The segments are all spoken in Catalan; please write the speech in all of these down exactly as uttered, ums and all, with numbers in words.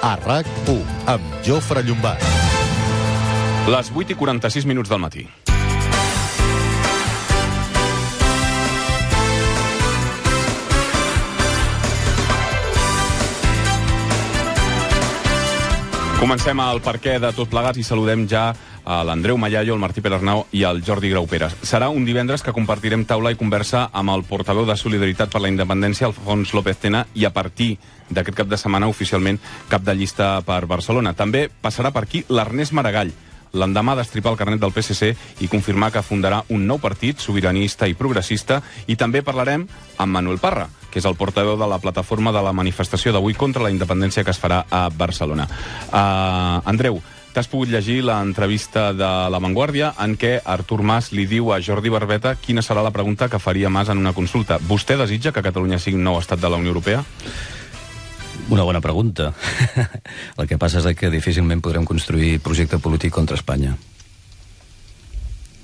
a RAC u, amb Jofre Llombart. Les vuit i quaranta-sis minuts del matí. Comencem el perquè de tot plegats i saludem ja a l'Andreu Mallallo, el Martí Perarnau i el Jordi Grauperes. Serà un divendres que compartirem taula i conversa amb el portaveu de Solidaritat per la Independència, Alfons López Tena, i a partir d'aquest cap de setmana oficialment cap de llista per Barcelona. També passarà per aquí l'Ernest Maragall, l'endemà d'estripar el carnet del P S C i confirmar que fundarà un nou partit sobiranista i progressista, i també parlarem amb Manuel Parra, que és el portaveu de la plataforma de la manifestació d'avui contra la independència que es farà a Barcelona. Uh, Andreu, t'has pogut llegir l'entrevista de La Vanguardia en què Artur Mas li diu a Jordi Barbeta quina serà la pregunta que faria Mas en una consulta. Vostè desitja que Catalunya sigui un nou estat de la Unió Europea? Una bona pregunta. El que passa és que difícilment podrem construir projecte polític contra Espanya.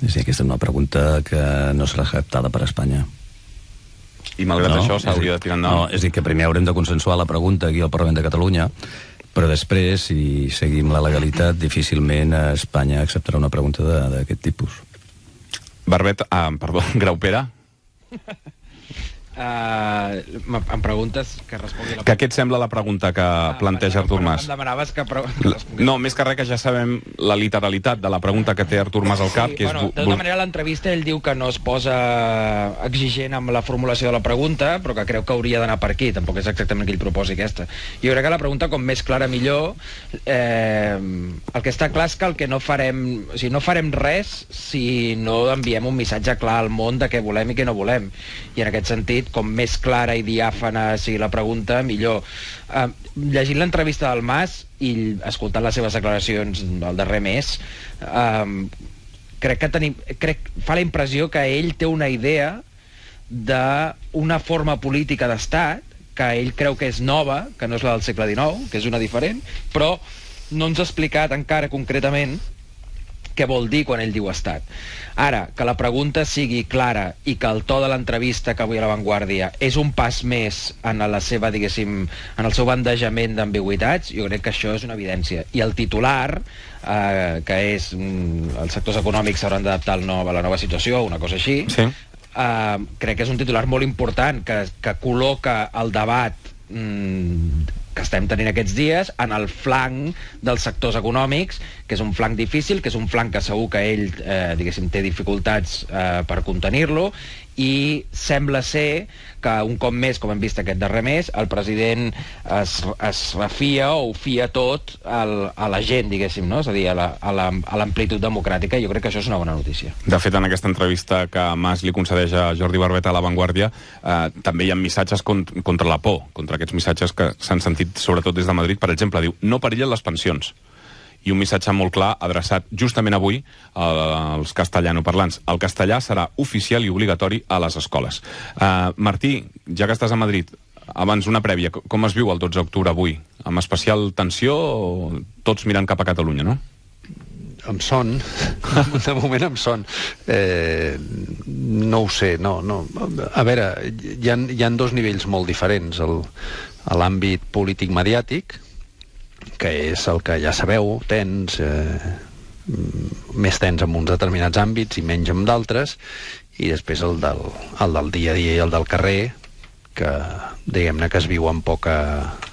És a dir, aquesta és una pregunta que no serà acceptada per Espanya. I malgrat no, això s'hauria de tirar endavant? No, és a dir, que primer haurem de consensuar la pregunta aquí al Parlament de Catalunya, però després, si seguim la legalitat, difícilment Espanya acceptarà una pregunta d'aquest tipus. Barbeta, ah, perdó, Graupera? Uh, em preguntes que respongui la... Que què et sembla la pregunta que ah, planteja Artur Mas? Em demanaves que... Pre... No, més que res que ja sabem la literalitat de la pregunta que té Artur Mas al cap, sí, que és... Bueno, de tota manera, a l'entrevista ell diu que no es posa exigent amb la formulació de la pregunta, però que creu que hauria d'anar per aquí. Tampoc és exactament que ell proposi aquesta. Jo crec que la pregunta, com més clara, millor. Eh, el que està clar és que el que no farem... O sigui, no farem res si no enviem un missatge clar al món de què volem i què no volem. I en aquest sentit, com més clara i diàfana sigui la pregunta, millor. Uh, llegint l'entrevista del Mas i escoltant les seves declaracions el darrer mes, uh, crec que tenim, crec, fa la impressió que ell té una idea d'una forma política d'estat que ell creu que és nova, que no és la del segle dinou, que és una diferent, però no ens ha explicat encara concretament què vol dir quan ell diu estat. Ara, que la pregunta sigui clara i que el to de l'entrevista que avui a La Vanguardia és un pas més en la seva, diguéssim, en el seu bandejament d'ambigüitats, jo crec que això és una evidència. I el titular, eh, que és mm, els sectors econòmics s'hauran d'adaptar a la nova situació, una cosa així, sí. eh, crec que és un titular molt important que, que col·loca el debat mm, que estem tenint aquests dies en el flanc dels sectors econòmics, que és un flanc difícil, que és un flanc que segur que ell, eh, diguéssim, té dificultats eh, per contenir-lo, i sembla ser que un cop més, com hem vist aquest darrer mes, el president es, es refia o ho fia tot al, a la gent, diguéssim, no? És a dir, a l'amplitud democràtica. Jo crec que això és una bona notícia. De fet, en aquesta entrevista que Mas li concedeix a Jordi Barbeta a La Vanguardia, eh, també hi ha missatges cont contra la por, contra aquests missatges que s'han sentit sobretot des de Madrid. Per exemple, diu, no perillen les pensions. I un missatge molt clar adreçat justament avui als castellanoparlants. El castellà serà oficial i obligatori a les escoles. Uh, Martí, ja que estàs a Madrid, abans una prèvia, com es viu el dotze d'octubre avui? Amb especial tensió o tots mirant cap a Catalunya, no? Em son, de moment em son. Eh, no ho sé, no, no. A veure, hi ha, hi ha dos nivells molt diferents. El, a l'àmbit polític-mediàtic, que és el que ja sabeu, tens, eh, més tens en uns determinats àmbits i menys en d'altres, i després el del, el del dia a dia i el del carrer, que diguem-ne que es viu amb poca,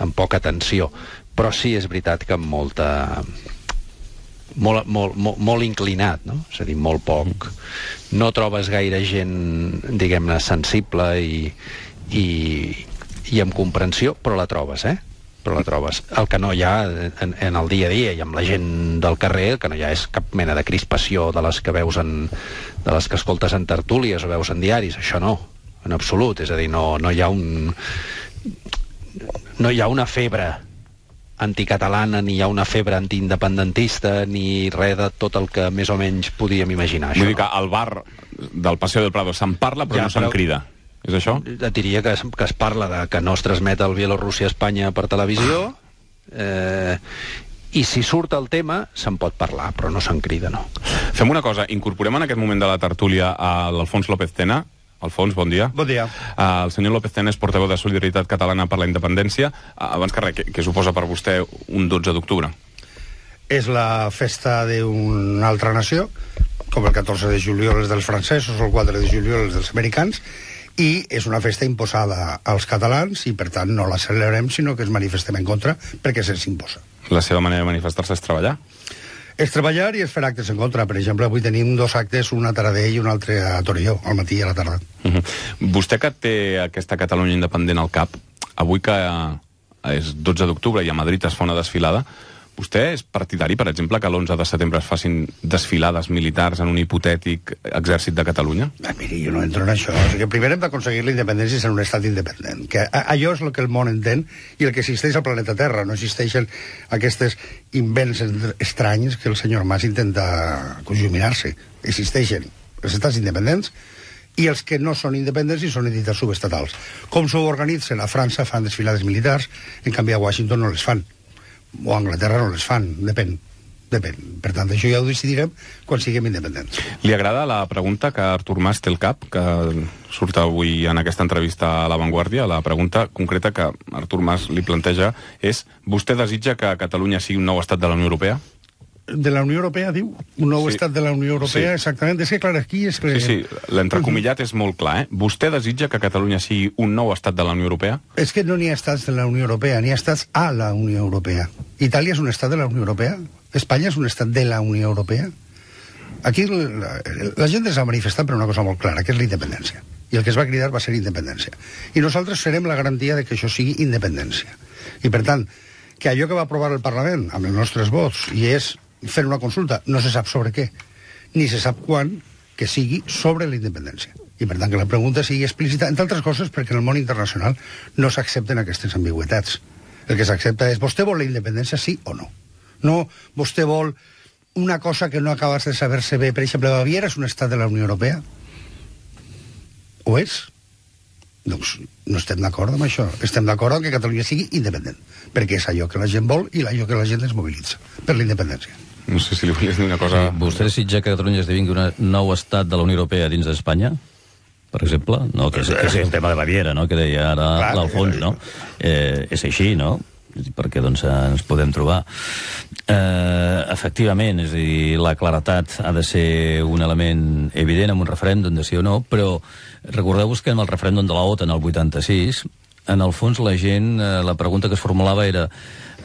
amb poca tensió. Però sí, és veritat que amb molta... Molt, molt, molt, molt inclinat, no? És a dir, molt poc. No trobes gaire gent, diguem-ne, sensible i, i, i amb comprensió, però la trobes, eh? Però la trobes. El que no hi ha en, en el dia a dia i amb la gent del carrer, el que no hi ha és cap mena de crispació de les que veus en, de les que escoltes en tertúlies o veus en diaris. Això no, en absolut. És a dir, no, no hi ha un... no hi ha una febre anticatalana, ni hi ha una febre antiindependentista, ni res de tot el que més o menys podíem imaginar. Vull dir que al bar del Paseo del Prado se'n parla però ja, no se'n però... crida. És això? Et diria que es, que es parla de que no es transmet el Bielorússia a Espanya per televisió, eh, i si surt el tema se'n pot parlar, però no se'n crida, no. Fem una cosa, incorporem en aquest moment de la tertúlia a l'Alfons López Tena. Alfons, bon dia. Bon dia. Uh, el senyor López Tena és portaveu de Solidaritat Catalana per la Independència. Uh, abans que res, què, què suposa per vostè un dotze d'octubre? És la festa d'una altra nació, com el catorze de juliol és dels francesos o el quatre de juliol és dels americans, i és una festa imposada als catalans i, per tant, no la celebrem, sinó que es manifestem en contra perquè se'ns imposa. La seva manera de manifestar-se és treballar? És treballar i és fer actes en contra. Per exemple, avui tenim dos actes, un a Taradell i un altre a Torelló, al matí i a la tarda. Uh -huh. Vostè que té aquesta Catalunya independent al cap, avui que és dotze d'octubre i a Madrid es fa una desfilada, vostè és partidari, per exemple, que l'onze de setembre es facin desfilades militars en un hipotètic exèrcit de Catalunya? Ah, miri, jo no entro en això. O sigui, primer hem d'aconseguir la independència i ser un estat independent. Que allò és el que el món entén i el que existeix al planeta Terra. No existeixen aquests invents estranys que el senyor Mas intenta conjuminar-se. Existeixen els estats independents i els que no són independents i són entitats subestatals. Com s'ho organitzen? A França fan desfilades militars, en canvi a Washington no les fan. O a Anglaterra no les fan, depèn. Depèn. Per tant, això ja ho decidirem quan siguem independents. Li agrada la pregunta que Artur Mas té al cap, que surt avui en aquesta entrevista a La Vanguardia? La pregunta concreta que Artur Mas li planteja és: vostè desitja que Catalunya sigui un nou estat de la Unió Europea? De la Unió Europea, diu? Un nou sí. estat de la Unió Europea, sí. Exactament. És que, clar, aquí és... Sí, sí, l'entrecomillat és molt clar, eh? Vostè desitja que Catalunya sigui un nou estat de la Unió Europea? És que no n'hi ha estats de la Unió Europea, n'hi ha estats a la Unió Europea. Itàlia és un estat de la Unió Europea? Espanya és un estat de la Unió Europea? Aquí la, la gent es va manifestar per una cosa molt clara, que és la independència. I el que es va cridar va ser independència. I nosaltres serem la garantia de que això sigui independència. I, per tant, que allò que va aprovar el Parlament amb els nostres vots, i és fer una consulta, no se sap sobre què, ni se sap quan, que sigui sobre la independència. I, per tant, que la pregunta sigui explícita, entre altres coses, perquè en el món internacional no s'accepten aquestes ambigüitats. El que s'accepta és, vostè vol la independència, sí o no? No, vostè vol una cosa que no acabes de saber-se bé. Per exemple, Baviera és un estat de la Unió Europea? Ho és? Doncs no estem d'acord amb això. Estem d'acord amb que Catalunya sigui independent, perquè és allò que la gent vol i allò que la gent es mobilitza per la independència. No sé si li volies dir una cosa... Sí, vostè desitja que Catalunya esdevingui un nou estat de la Unió Europea dins d'Espanya? Per exemple? No, que és, que és el tema de Baviera, no?, que deia ara l'Alfons, no? Eh, és així, no? Perquè doncs ens podem trobar. Eh, efectivament, és a dir, la claretat ha de ser un element evident en un referèndum de sí o no, però recordeu-vos que en el referèndum de la OTAN el vuitanta-sis, en el fons la gent, eh, la pregunta que es formulava era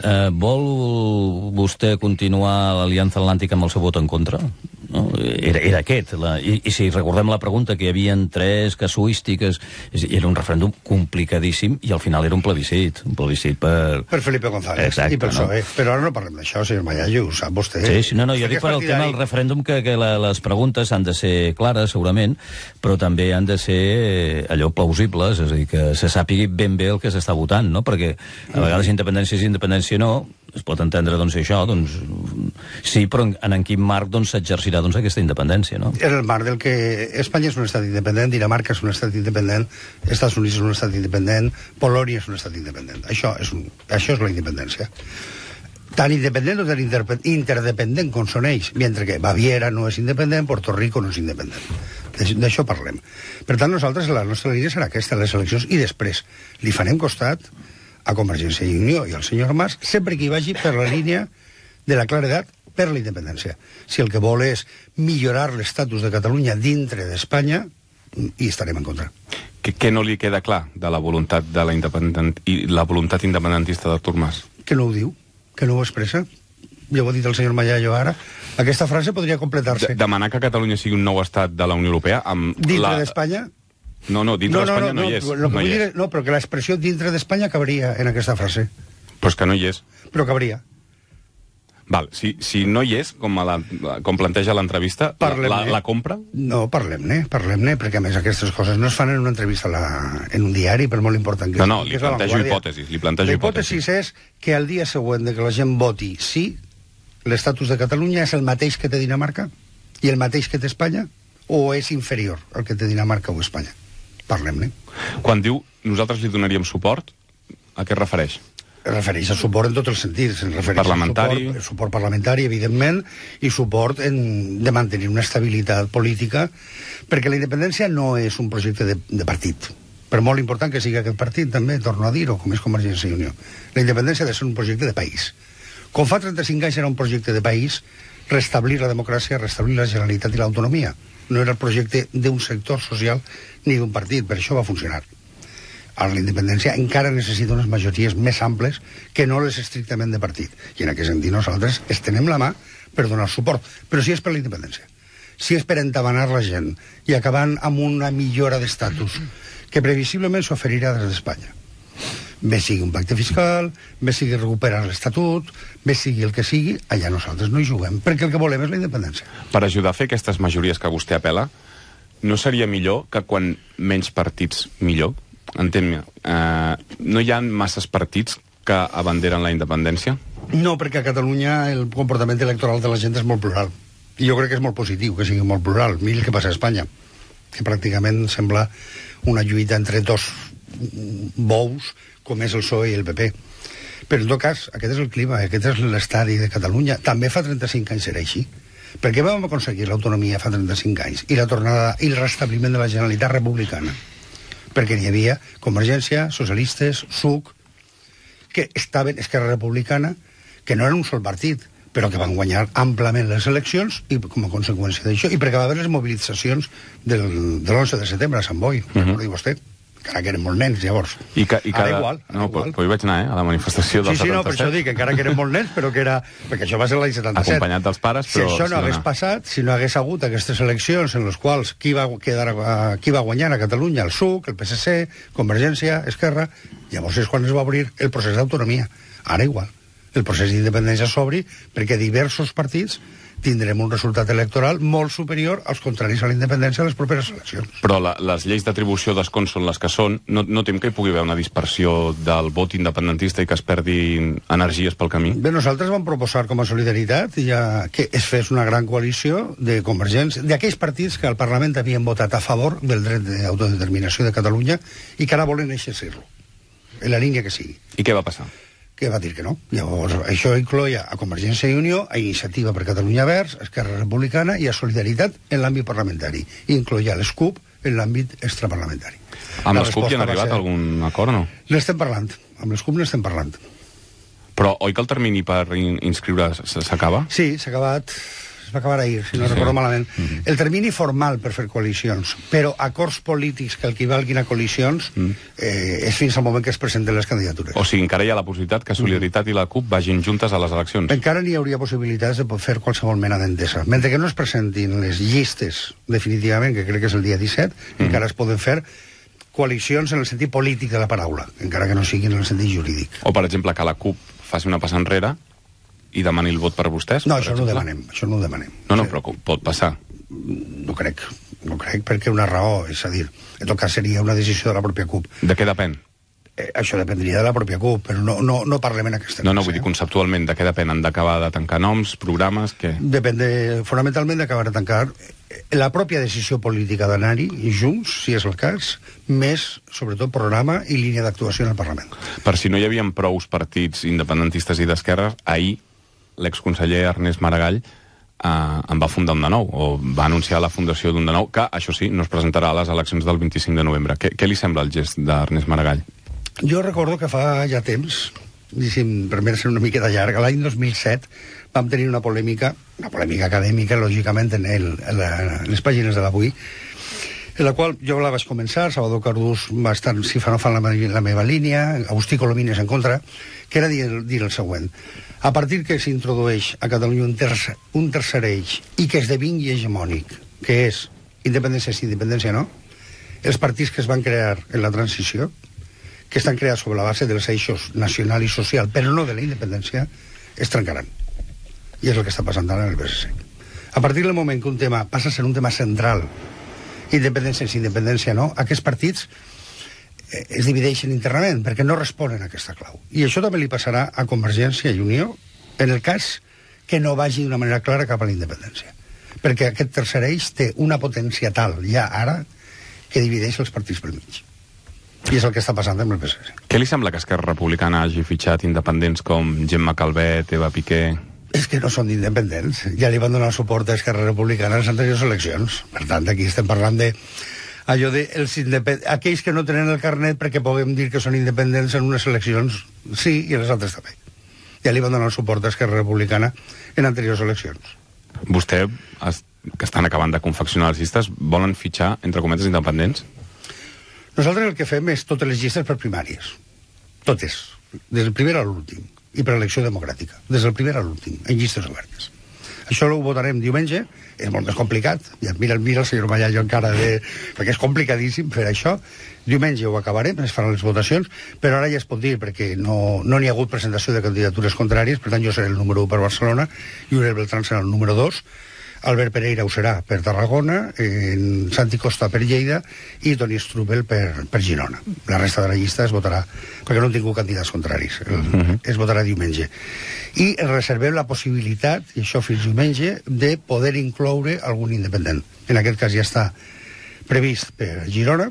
eh, vol vostè continuar l'Aliança Atlàntica amb el seu vot en contra? No? Era, era aquest. La, i, I si recordem la pregunta, que hi havia tres casuístiques, era un referèndum complicadíssim i al final era un plebiscit. Un plebiscit per... Per Felipe González. Exacte, i per no? P S O E. Però ara no parlem d'això, senyor Mayallo, ho sap vostè. Sí, sí, no, no, jo dic per al tema del referèndum que, que la, les preguntes han de ser clares, segurament, però també han de ser allò plausibles, és a dir, que se sàpigui ben bé el que s'està votant, no? Perquè a vegades independència és independència no, es pot entendre, doncs, això, doncs, sí, però en, en quin marc, doncs, s'exercirà, doncs, aquesta independència, no? En el marc del que Espanya és un estat independent, Dinamarca és un estat independent, Estats Units és un estat independent, Polònia és un estat independent. Això és, un, això és la independència. Tan independent o tan interdependent com són ells, mentre que Baviera no és independent, Puerto Rico no és independent. D'això parlem. Per tant, nosaltres, la nostra línia serà aquesta, les eleccions, i després li farem costat a Convergència i Unió i al senyor Mas, sempre que hi vagi per la línia de la claredat per la independència. Si el que vol és millorar l'estatus de Catalunya dintre d'Espanya, hi estarem en contra. Què, què no li queda clar de la voluntat de la independent i la voluntat independentista d'Artur Mas? Que no ho diu, que no ho expressa. Ja ho ha dit el senyor Mayallo ara. Aquesta frase podria completar-se. De demanar que Catalunya sigui un nou estat de la Unió Europea amb dintre la... d'Espanya? No, no, dintre no, no, d'Espanya no, no, no hi és. No, no, hi és. No, però que l'expressió dintre d'Espanya cabria en aquesta frase. Però és que no hi és. Però cabria. Val, si, si no hi és, com, la, com planteja l'entrevista, la, la compra? No, parlem-ne, parlem-ne, perquè a més aquestes coses no es fan en una entrevista la, en un diari, per molt important que no, és. No, no, li plantejo hipòtesis, li plantejo hipòtesis. L'hipòtesis és que al dia següent de que la gent voti sí, l'estatus de Catalunya és el mateix que té Dinamarca i el mateix que té Espanya, o és inferior al que té Dinamarca o Espanya? Parlem-ne. Quan diu nosaltres li donaríem suport, a què es refereix? es refereix al suport en tots els sentits. Es refereix Parlamentari. Al suport, suport parlamentari, evidentment, i suport en, de mantenir una estabilitat política, perquè la independència no és un projecte de, de partit. Per molt important que sigui aquest partit, també, torno a dir-ho, com és Convergència i Unió. La independència ha de ser un projecte de país. Com fa trenta-cinc anys era un projecte de país, restablir la democràcia, restablir la Generalitat i l'autonomia. No era el projecte d'un sector social ni d'un partit, per això va funcionar. Ara la independència encara necessita unes majories més amples que no les estrictament de partit. I en aquest sentit nosaltres estenem la mà per donar suport. Però si és per la independència, si és per entavanar la gent i acabant amb una millora d'estatus que previsiblement s'oferirà des d'Espanya. Bé sigui un pacte fiscal, bé sigui recuperar l'Estatut, bé sigui el que sigui, allà nosaltres no hi juguem, perquè el que volem és la independència. Per ajudar a fer aquestes majories que vostè apela, no seria millor que quan menys partits, millor? Entén-me, eh, no hi ha masses partits que abanderen la independència? No, perquè a Catalunya el comportament electoral de la gent és molt plural. I jo crec que és molt positiu que sigui molt plural. Mira el que passa a Espanya, que pràcticament sembla una lluita entre dos bous, com és el P S O E i el P P. Però en tot cas, aquest és el clima, aquest és l'estadi de Catalunya. També fa trenta-cinc anys era així. Per què vam aconseguir l'autonomia fa trenta-cinc anys i la tornada i el restabliment de la Generalitat republicana? Perquè hi havia Convergència, socialistes, S U C, que estaven, Esquerra Republicana, que no eren un sol partit, però que van guanyar amplament les eleccions i com a conseqüència d'això, i perquè va haver les mobilitzacions del, de l'onze de setembre a Sant Boi, uh -huh. recordi vostè, encara que eren molt nens, llavors. I, ca, i cada... Ara igual. Ara no, igual. però hi vaig anar, eh, a la manifestació del sí, sí, setanta-set. no, per això dic, encara que eren molt nens, però que era... Perquè això va ser l'any setanta-set. Acompanyat dels pares, però... Si això no sí, hagués no. passat, si no hagués hagut aquestes eleccions en les quals qui va, quedar, uh, qui va guanyar a Catalunya, el S U C, el P S C, Convergència, Esquerra, llavors és quan es va obrir el procés d'autonomia. Ara igual. El procés d'independència s'obri perquè diversos partits tindrem un resultat electoral molt superior als contraris a la independència a les properes eleccions. Però la, les lleis d'atribució d'escons són les que són. No, no tem que hi pugui haver una dispersió del vot independentista i que es perdin energies pel camí? Bé, nosaltres vam proposar com a solidaritat ja que es fes una gran coalició de Convergència, d'aquells partits que al Parlament havien votat a favor del dret d'autodeterminació de Catalunya i que ara volen exercir-lo, en la línia que sigui. I què va passar? Que va dir que no. Llavors, això incloia a Convergència i Unió, a Iniciativa per Catalunya Verds, a Esquerra Republicana i a Solidaritat en l'àmbit parlamentari. I incloia l'S C U P en l'àmbit extraparlamentari. Amb l'S C U P hi han arribat a algun acord o no? N'estem parlant. Amb l'S C U P n'estem parlant. Però oi que el termini per in inscriure's s'acaba? Sí, s'ha acabat... Es va acabar ahir, si no sí. recordo malament. Mm-hmm. El termini formal per fer coalicions, però acords polítics que equivalguin a coalicions mm. eh, és fins al moment que es presenten les candidatures. O sigui, encara hi ha la possibilitat que Solidaritat mm. i la C U P vagin juntes a les eleccions? Encara n'hi hauria possibilitats de fer qualsevol mena d'entesa. Mentre que no es presentin les llistes definitivament, que crec que és el dia disset, mm. encara es poden fer coalicions en el sentit polític de la paraula, encara que no siguin en el sentit jurídic. O, per exemple, que la C U P faci una passa enrere i demani el vot per vostès? No, per això exemple? no ho demanem, això no ho demanem. No, no, però pot passar. No crec, no crec, perquè una raó, és a dir, en tot cas seria una decisió de la pròpia C U P. De què depèn? Eh, això dependria de la pròpia C U P, però no, no, no parlem en aquesta No, no, cosa, vull dir, eh? conceptualment, de què depèn? Han d'acabar de tancar noms, programes, què? Depèn de, fonamentalment d'acabar de tancar la pròpia decisió política d'anar-hi junts, si és el cas, més, sobretot, programa i línia d'actuació en el Parlament. Per si no hi havia prous partits independentistes i d'esquerres, ahir l'exconseller Ernest Maragall eh, en va fundar un de nou, o va anunciar la fundació d'un de nou, que, això sí, no es presentarà a les eleccions del vint-i-cinc de novembre. Què, què li sembla el gest d'Ernest Maragall? Jo recordo que fa ja temps, diguéssim, per mi ser una miqueta llarga, l'any dos mil set vam tenir una polèmica, una polèmica acadèmica, lògicament, en, el, en, la, en les pàgines de l'Avui, en la qual jo la vaig començar, Salvador Cardús va estar, si fa no fa la, la meva línia, Agustí Colomines en contra, que era dir, dir el següent. A partir que s'introdueix a Catalunya un tercer, un tercer eix i que esdevingui hegemònic, que és independència sí, independència no, els partits que es van crear en la transició, que estan creats sobre la base dels eixos nacional i social, però no de la independència, es trencaran. I és el que està passant ara en el P S C. A partir del moment que un tema passa a ser un tema central, independència sí, independència no, aquests partits es divideixen internament perquè no responen a aquesta clau. I això també li passarà a Convergència i Unió en el cas que no vagi d'una manera clara cap a la independència. Perquè aquest tercer eix té una potència tal, ja ara, que divideix els partits pel mig. I és el que està passant amb el P S C. Què li sembla que Esquerra Republicana hagi fitxat independents com Gemma Calvet, Eva Piqué? És que no són independents. Ja li van donar suport a Esquerra Republicana en les anteriors eleccions. Per tant, aquí estem parlant de allò de els independ... aquells que no tenen el carnet perquè puguem dir que són independents en unes eleccions, sí, i en les altres també. Ja li van donar suport a Esquerra Republicana en anteriors eleccions. Vostè, que estan acabant de confeccionar les llistes, volen fitxar, entre cometes, independents? Nosaltres el que fem és totes les llistes per primàries. Totes. Des del primer a l'últim. I per elecció democràtica. Des del primer a l'últim. En llistes obertes. Això ho votarem diumenge. És molt més complicat. Ja mira, mira el senyor Mallallo encara de... perquè és complicadíssim fer això. Diumenge ho acabarem, es faran les votacions, però ara ja es pot dir, perquè no n'hi no ha hagut presentació de candidatures contràries, per tant jo seré el número u per Barcelona, Uriel Beltrán serà el número dos, Albert Pereira ho serà per Tarragona, en Santi Costa per Lleida i Toni Strubel per, per Girona. La resta de la llista es votarà, perquè no han tingut candidats contraris, el, uh -huh. es votarà diumenge. I reservem la possibilitat, i això fins diumenge, de poder incloure algun independent. En aquest cas ja està previst per Girona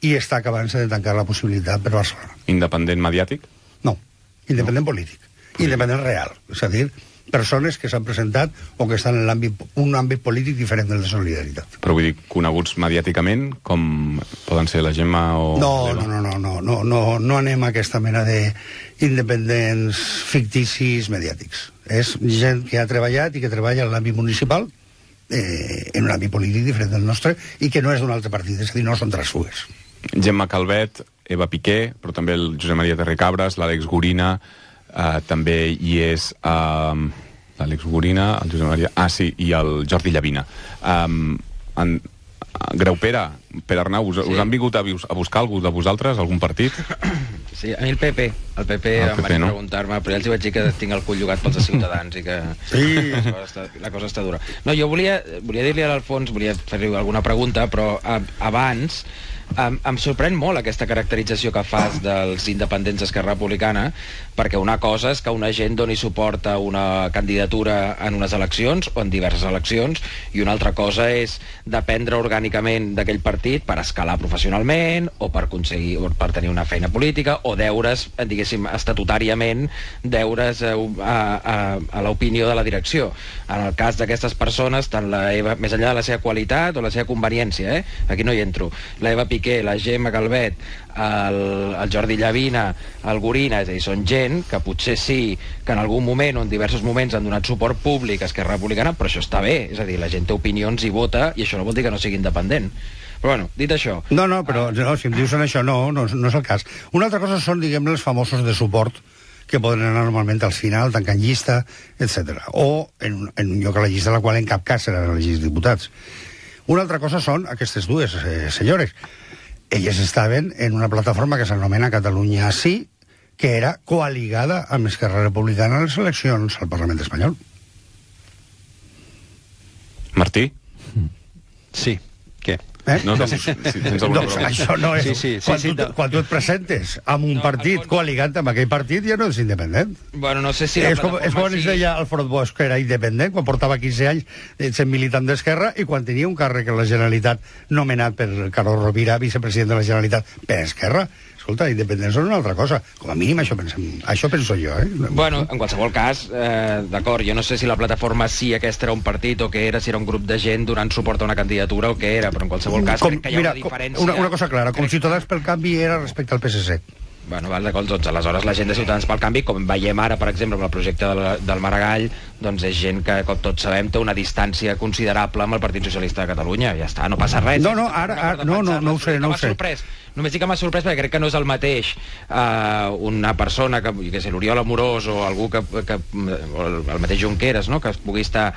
i està acabant-se de tancar la possibilitat per Barcelona. Independent mediàtic? No, independent no. polític. Independent real, és a dir, persones que s'han presentat o que estan en l'àmbit, un àmbit polític diferent del de Solidaritat. Però vull dir, coneguts mediàticament, com poden ser la Gemma o... No, no, no, no, no, no, no, no anem a aquesta mena d'independents ficticis mediàtics. És gent que ha treballat i que treballa en l'àmbit municipal, eh, en un àmbit polític diferent del nostre, i que no és d'un altre partit, és a dir, no són transfugues. Gemma Calvet, Eva Piqué, però també el Josep Maria Terricabras, l'Àlex Gorina... Uh, també hi és uh, l'Àlex Gorina, el Josep Maria... Ah, sí, i el Jordi Llavina. Um, en, Graupera, Pere Arnau, us, sí. us han vingut a, a buscar algú de vosaltres, algun partit? Sí, a mi el P P. El P P el em P P, van no? preguntar-me, però ja els hi vaig dir que tinc el cul llogat pels de Ciutadans i que sí. la, cosa està, la cosa està dura. No, jo volia, volia dir-li a l'Alfons, volia fer-li alguna pregunta, però a, abans... Em, em sorprèn molt aquesta caracterització que fas dels independents d'Esquerra Republicana, perquè una cosa és que una gent doni suport a una candidatura en unes eleccions o en diverses eleccions, i una altra cosa és dependre orgànicament d'aquell partit per escalar professionalment o per aconseguir, o per tenir una feina política o deure's, diguéssim, estatutàriament deure's a, a, a, a l'opinió de la direcció. En el cas d'aquestes persones, tant la Eva, més enllà de la seva qualitat o la seva conveniència, eh? Aquí no hi entro, la Eva Piqué, la Gemma Calvet, el, el Jordi Llavina, el Gorina, és a dir, són gent que potser sí que en algun moment o en diversos moments han donat suport públic a Esquerra Republicana, però això està bé, és a dir, la gent té opinions i vota, i això no vol dir que no sigui independent. Però bueno, dit això... No, no, però no, si em dius en això, no, no, no és el cas. Una altra cosa són, diguem, els famosos de suport que poden anar normalment al final, tancant llista, etcètera. O en, en un lloc a la llista en la qual en cap cas seran elegits diputats. Una altra cosa són aquestes dues eh, senyores. Elles estaven en una plataforma que s'anomena Catalunya Sí, que era coaligada amb Esquerra Republicana en les eleccions al Parlament espanyol. Martí? Sí. Què? Eh? No, doncs, si, si tens alguna doncs pregunta. això no és... Sí, sí, sí, quan, sí, tu, no. quan tu et presentes amb un No, partit Alfons... coaligant amb aquell partit, ja no és independent. Bueno, no sé si la és com, és quan sí. es deia Alfred Bosch que era independent, quan portava quinze anys sent militant d'Esquerra i quan tenia un càrrec a la Generalitat nomenat per Carlos Rovira, vicepresident de la Generalitat, per Esquerra. Escolta, independents són una altra cosa. Com a mínim això, pensem, això penso jo, eh? Bueno, en qualsevol cas, eh, d'acord, jo no sé si la plataforma sí aquesta era un partit o què era, si era un grup de gent donant suport a una candidatura o què era, però en qualsevol cas com, crec que hi ha mira, una diferència... Una, una cosa clara, com crec... Ciutadans pel Canvi era respecte al P S C. Bueno, val, d'acord, doncs aleshores la gent de Ciutadans pel Canvi, com veiem ara, per exemple, amb el projecte de la, del Maragall, doncs és gent que, com tots sabem, té una distància considerable amb el Partit Socialista de Catalunya. Ja està, no passa res. No, no, ara, ara no, no, no ho sé, no ho sé. Sorprès. Només dic que m'ha sorprès perquè crec que no és el mateix uh, una persona que, que sé, l'Oriol Amorós o algú que, que o el mateix Junqueras, no?, que es pugui estar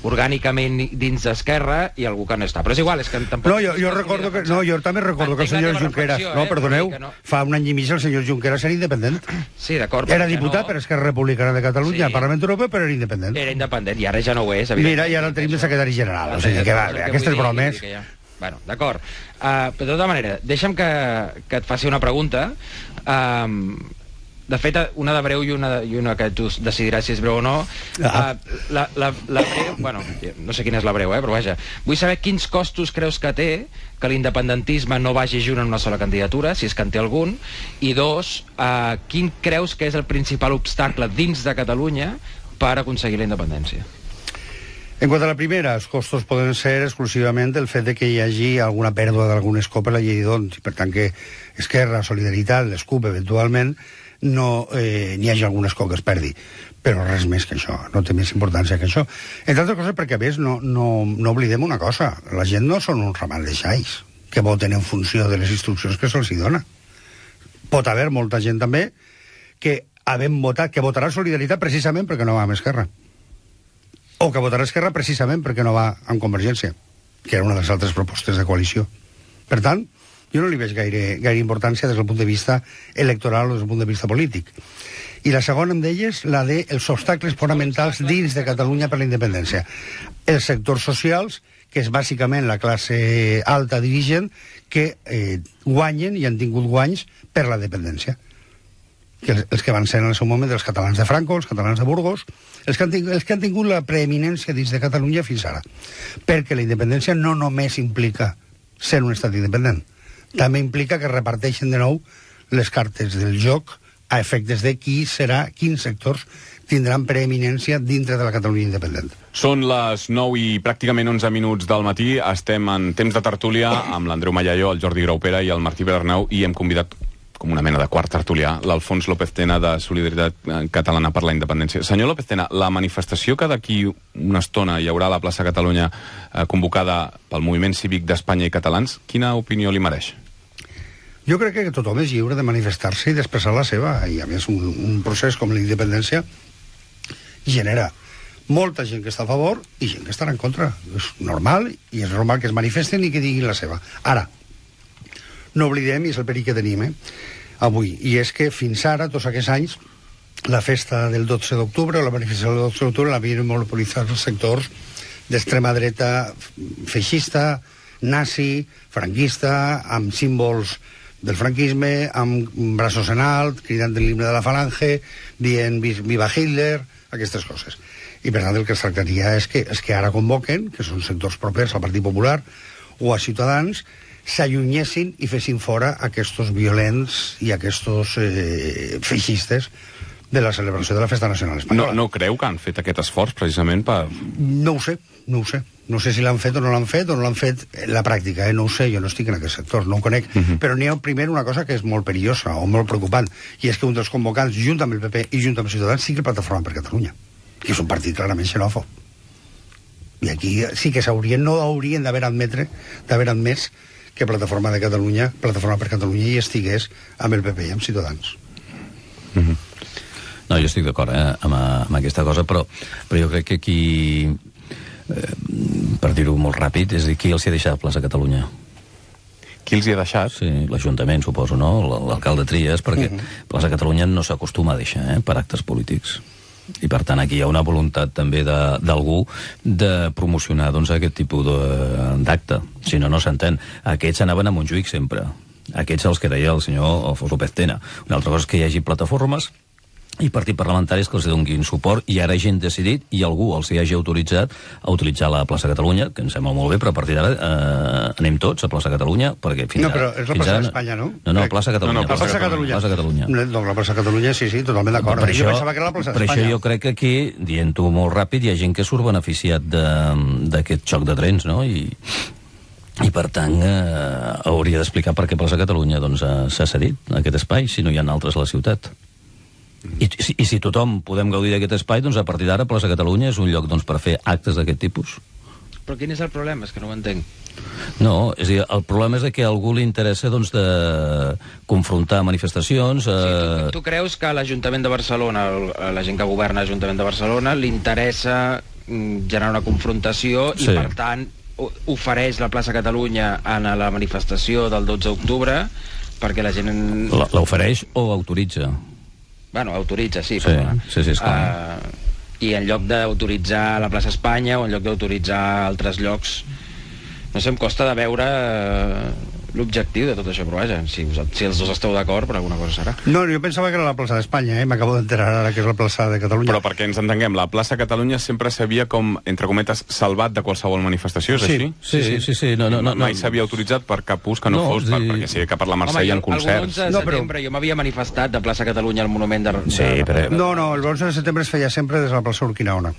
orgànicament dins d'Esquerra i algú que no està. Però és igual, és que tampoc... No, jo, jo recordo que... No, jo també recordo que el senyor Junqueras... No, perdoneu, no. Fa un any i mig el senyor Junqueras era independent. Sí, d'acord. Era diputat no. per Esquerra Republicana de Catalunya, sí. al Parlament Europeu, però era independent. Era independent, i ara ja no ho és, Mira, i ara el tenim de secretari general, o sigui que va, aquestes bromes... Bueno, d'acord. Uh, però de tota manera, deixa'm que, que et faci una pregunta. Um, De fet, una de breu i una, i una que tu decidiràs si és breu o no. Ah. Uh, la, la, la breu, bueno, no sé quina és la breu, eh, però vaja. Vull saber quins costos creus que té que l'independentisme no vagi junt en una sola candidatura, si és que en té algun, i dos, uh, quin creus que és el principal obstacle dins de Catalunya per aconseguir la independència? En quant a la primera, els costos poden ser exclusivament el fet de que hi hagi alguna pèrdua d'algun escó per la llei d'Ons, i per tant que Esquerra, Solidaritat, l'Escup, eventualment, no eh, n'hi hagi algun escó que es perdi. Però res més que això, no té més importància que això. Entre altres coses perquè, a més, no, no, no oblidem una cosa. La gent no són un ramat de xais que voten en funció de les instruccions que se'ls dona. Pot haver molta gent també que havent votat, que votarà Solidaritat precisament perquè no va amb Esquerra. O que votarà Esquerra precisament perquè no va amb Convergència, que era una de les altres propostes de coalició. Per tant, jo no li veig gaire, gaire importància des del punt de vista electoral o des del punt de vista polític. I la segona em deies, la dels obstacles fonamentals dins de Catalunya per la independència. Els sectors socials, que és bàsicament la classe alta dirigent, que eh, guanyen i han tingut guanys per la dependència. Que els, els que van ser en el seu moment els catalans de Franco, els catalans de Burgos, els que han tingut, els que han tingut la preeminència dins de Catalunya fins ara. Perquè la independència no només implica ser un estat independent, també implica que reparteixen de nou les cartes del joc a efectes de qui serà, quins sectors tindran preeminència dintre de la Catalunya independent. Són les nou i pràcticament onze minuts del matí. Estem en temps de tertúlia amb l'Andreu Mallallo, el Jordi Graupera i el Martí Pedernau, i hem convidat com una mena de quart tertulià, l'Alfons López Tena de Solidaritat Catalana per la Independència. Senyor López Tena, la manifestació que d'aquí una estona hi haurà a la plaça Catalunya eh, convocada pel Moviment Cívic d'Espanya i Catalans, quina opinió li mereix? Jo crec que tothom és lliure de manifestar-se i d'expressar la seva, i a més un, un procés com la independència genera molta gent que està a favor i gent que estarà en contra. És normal, i és normal que es manifesten i que diguin la seva. Ara, no oblidem, i és el perill que tenim, eh, avui, i és que fins ara, tots aquests anys, la festa del dotze d'octubre o la manifestació del dotze d'octubre l'havien monopolitzat els sectors d'extrema dreta feixista, nazi, franquista, amb símbols del franquisme, amb braços en alt, cridant l'himne de la falange, dient viva Hitler, aquestes coses. I per tant el que es tractaria és que, és que ara convoquen, que són sectors propers al Partit Popular o a Ciutadans, s'allunyessin i fessin fora aquests violents i aquests eh, feixistes de la celebració de la Festa Nacional Espanyola. No, no creu que han fet aquest esforç precisament per... No ho sé, no ho sé. No sé si l'han fet o no l'han fet, o no l'han fet en la pràctica, eh? No ho sé, jo no estic en aquest sector, no ho conec. Uh -huh. Però n'hi ha primer una cosa que és molt perillosa o molt preocupant, i és que un dels convocants, junt amb el P P i junt amb Ciutadans, sigui el Plataforma per Catalunya, que és un partit clarament xenòfob. I aquí sí que s'haurien, no haurien d'haver admetre, d'haver admès que Plataforma de Catalunya, Plataforma per Catalunya hi estigués amb el P P i amb Ciutadans. Uh -huh. No, jo estic d'acord eh, amb, amb aquesta cosa, però, però jo crec que aquí, eh, per dir-ho molt ràpid, és a dir, qui els hi ha deixat plaça Catalunya? Qui els hi ha deixat? Sí, l'Ajuntament, suposo, no? L'alcalde Trias, perquè uh -huh. plaça Catalunya no s'acostuma a deixar, eh, per actes polítics. I per tant aquí hi ha una voluntat també d'algú de, de promocionar doncs, aquest tipus d'acte, si no, no s'entén. Aquests anaven a Montjuïc sempre, aquests els que deia el senyor Alfons López Tena. Una altra cosa és que hi hagi plataformes i partits parlamentaris que els donin suport, i ara gent decidit i algú els hi hagi autoritzat a utilitzar la plaça Catalunya, que em sembla molt bé, però a partir d'ara eh, anem tots a plaça Catalunya, perquè fins no, però és la plaça ara... d'Espanya, no? No, no, plaça Catalunya. No, no, plaça, plaça Catalunya. Plaça Catalunya. No, la plaça Catalunya, sí, sí, totalment d'acord. Per, jo pensava que era la plaça per això jo crec que aquí, dient-ho molt ràpid, hi ha gent que surt beneficiat d'aquest xoc de trens, no? I, i per tant eh, hauria d'explicar per què plaça Catalunya doncs, s'ha cedit aquest espai, si no hi ha altres a la ciutat. I, i, i si tothom podem gaudir d'aquest espai, doncs a partir d'ara plaça Catalunya és un lloc doncs, per fer actes d'aquest tipus. Però quin és el problema? És que no ho entenc. No, és a dir, el problema és que a algú li interessa doncs, de confrontar manifestacions... Eh... Sí, tu, tu creus que a l'Ajuntament de Barcelona, a la gent que governa l'Ajuntament de Barcelona, li interessa generar una confrontació i, sí. per tant, ofereix la plaça Catalunya en la manifestació del dotze d'octubre perquè la gent... L'ofereix o autoritza? Bueno, autoritza, sí. Sí, sí, sí, esclar. Uh, I en lloc d'autoritzar la plaça Espanya o en lloc d'autoritzar altres llocs, no sé, em costa de veure uh, l'objectiu de tot això, però vaja, si, us, si els dos esteu d'acord, per alguna cosa serà. No, jo pensava que era la plaça d'Espanya, eh? M'acabo d'enterar ara que és la plaça de Catalunya. Però perquè ens entenguem, la plaça Catalunya sempre s'havia com, entre cometes, salvat de qualsevol manifestació, és sí, així? Sí, sí, sí, sí. No, no, no, Mai no. s'havia autoritzat per cap ús que no, No, fos, per, sí. perquè sí que per la Mercè Home, hi ha jo, concerts. el onze de No, però- setembre jo m'havia manifestat de plaça Catalunya al monument de... Sí, de... però- No, no, el onze de setembre es feia sempre des de la plaça Urquinaona.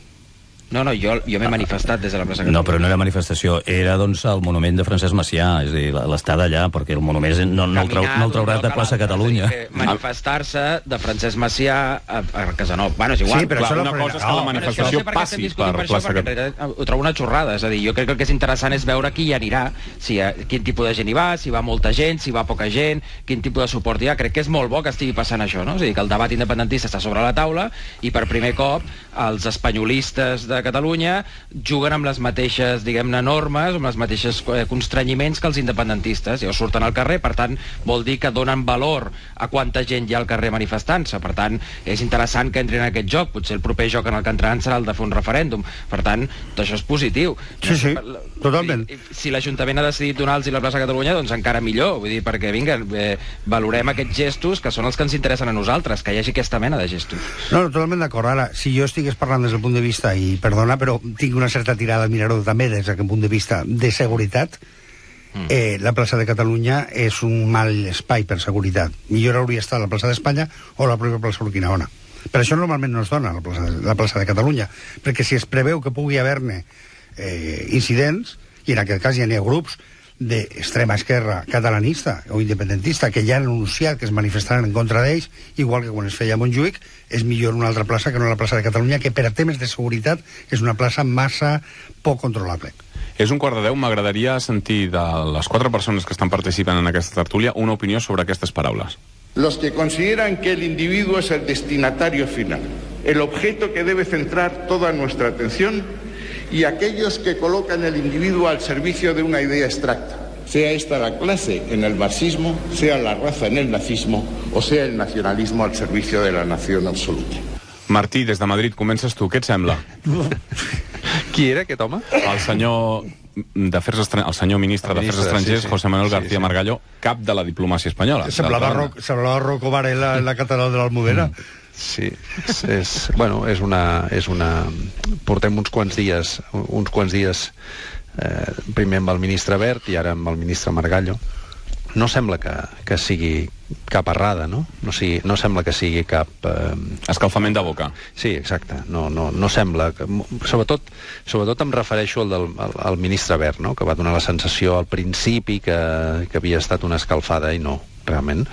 No, no, jo, jo m'he manifestat des de la plaça Catalunya. No, però no era manifestació, era doncs el monument de Francesc Macià, és a dir, l'estada allà, perquè el monument és- no, no, el, trau, no el trauràs de plaça Catalunya. Manifestar-se de Francesc Macià a, a Casanova. Bueno, és igual. Sí, però Clar, això una la cosa és que la no, manifestació passi per plaça Catalunya. Catalunya. Ho trobo una xorrada, és a dir, jo crec que el que és interessant és veure qui hi anirà, si, eh, quin tipus de gent hi va, si va molta gent, si va poca gent, quin tipus de suport hi ha. Crec que és molt bo que estigui passant això, no? És a dir, que el debat independentista està sobre la taula i per primer cop els espanyolistes de Catalunya juguen amb les mateixes, diguem-ne, normes, amb les mateixes eh, constrenyiments que els independentistes. Llavors surten al carrer, per tant, vol dir que donen valor a quanta gent hi ha al carrer manifestant-se. Per tant, és interessant que entrin en aquest joc. Potser el proper joc en el que entraran serà el de fer un referèndum. Per tant, tot això és positiu. Sí, sí, totalment. I, si l'Ajuntament ha decidit donar-los la plaça Catalunya, doncs encara millor. Vull dir, perquè, vinga, eh, valorem aquests gestos que són els que ens interessen a nosaltres, que hi hagi aquesta mena de gestos. No, no, totalment d'acord. Ara, si jo estigués parlant des del punt de vista, i perdona, però tinc una certa tirada al mirador també des d'aquest punt de vista de seguretat, eh, la plaça de Catalunya és un mal espai per seguretat. Millor hauria estat la plaça d'Espanya o la pròpia plaça Urquinaona. Per això normalment no es dona la plaça, la plaça de Catalunya, perquè si es preveu que pugui haver-ne eh, incidents, i en aquest cas hi ha grups d'extrema esquerra catalanista o independentista que ja han anunciat que es manifestaran en contra d'ells, igual que quan es feia a Montjuïc, és millor una altra plaça que no la plaça de Catalunya, que per a temes de seguretat és una plaça massa poc controlable. És un quart de deu, m'agradaria sentir de les quatre persones que estan participant en aquesta tertúlia una opinió sobre aquestes paraules. Los que consideran que el individuo es el destinatario final, el objeto que debe centrar toda nuestra atención, y aquellos que colocan el individuo al servicio de una idea abstracta, sea esta la clase en el marxismo, sea la raza en el nazismo o sea el nacionalismo al servicio de la nación absoluta. Martí, des de Madrid, comences tu. Què et sembla? Qui era aquest home? El senyor d'Afers Estran... el senyor ministre El d'Afers ministre, Estrangers, sí, sí. José Manuel Sí, García sí. Margallo, cap de la diplomàcia espanyola. Semblava, D'altra Ro banda. semblava Rocco Varela en la catedral de l'Almudena. Sí, és, és, bueno, és una, és una... Portem uns quants dies, uns quants dies eh, primer amb el ministre Wert i ara amb el ministre Margallo. No sembla que, que sigui cap errada, no? No, sigui, no sembla que sigui cap... Eh... Escalfament de boca. Sí, exacte. No, no, no sembla... Que... Sobretot, sobretot em refereixo al, del, al, al ministre Wert, no? Que va donar la sensació al principi que, que havia estat una escalfada i no. Realment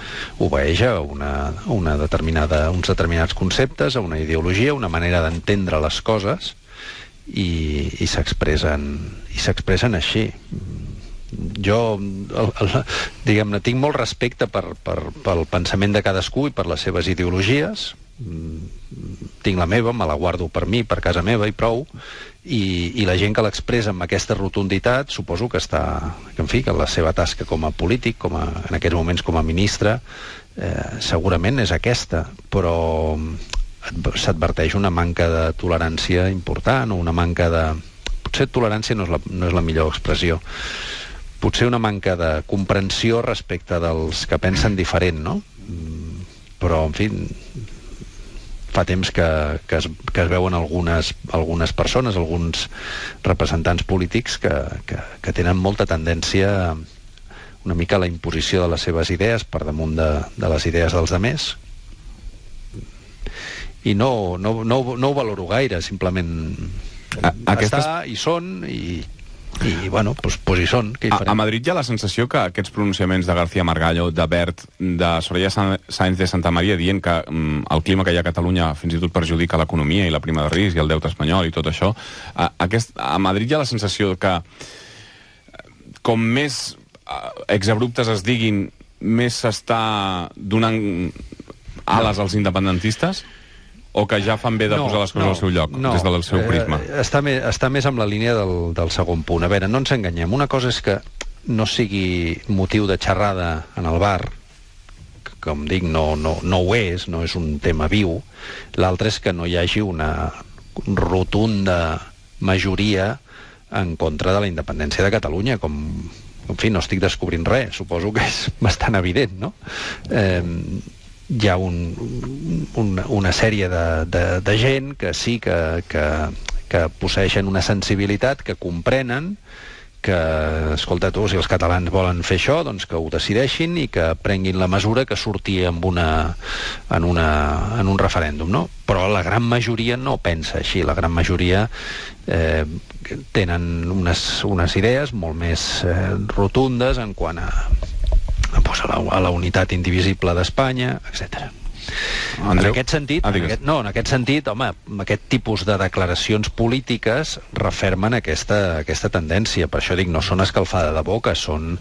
obeeix a una, una determinada, uns determinats conceptes, a una ideologia, una manera d'entendre les coses i, i s'expressen i s'expressen així. Jo, el, el, diguem-ne, tinc molt respecte per, per, pel pensament de cadascú i per les seves ideologies. Tinc la meva, me la guardo per mi, per casa meva i prou, i, i la gent que l'expressa amb aquesta rotunditat suposo que està, que en fi, que la seva tasca com a polític, com a, en aquests moments com a ministre, eh, segurament és aquesta, però s'adverteix una manca de tolerància important, o una manca de... Potser tolerància no és la, no és la millor expressió, potser una manca de comprensió respecte dels que pensen diferent, no? Però, en fi, fa temps que, que, es, que es veuen algunes, algunes persones, alguns representants polítics que, que, que tenen molta tendència una mica a la imposició de les seves idees per damunt de, de les idees dels altres, i no, no, no, no ho valoro gaire, simplement A, aquestes... està, hi són i, i bueno, doncs, doncs hi són. Què hi A, farem? a Madrid hi ha la sensació que aquests pronunciaments de García Margallo, de Wert, de Soraya Sáenz de Santa Maria, dient que mm, el clima que hi ha a Catalunya fins i tot perjudica l'economia i la prima de risc i el deute espanyol i tot això, a, aquest, a Madrid hi ha la sensació que com més exabruptes es diguin, més s'està donant ales als independentistes? O que ja fan bé de posar les coses no, al seu lloc, no, des del seu prisma? Eh, està, més, està més amb la línia del, del segon punt. A veure, no ens enganyem. Una cosa és que no sigui motiu de xerrada en el bar, que, com dic, no, no, no ho és, no és un tema viu. L'altre és que no hi hagi una rotunda majoria en contra de la independència de Catalunya, com, en fi, no estic descobrint res, suposo que és bastant evident, no? Eh, hi ha un, un, una sèrie de, de, de gent que sí que, que, que posseixen una sensibilitat, que comprenen que, escolta tu, si els catalans volen fer això, doncs que ho decideixin i que prenguin la mesura que surti amb una, en, una, en un referèndum, no? Però la gran majoria no pensa així, la gran majoria eh, tenen unes, unes idees molt més eh, rotundes en quant a, a, pues, a, la, a la unitat indivisible d'Espanya, etcètera. Andreu? En aquest sentit, ah, en aquest, no, en aquest sentit, home, aquest tipus de declaracions polítiques refermen aquesta, aquesta tendència. Per això dic, no són escalfada de boca, són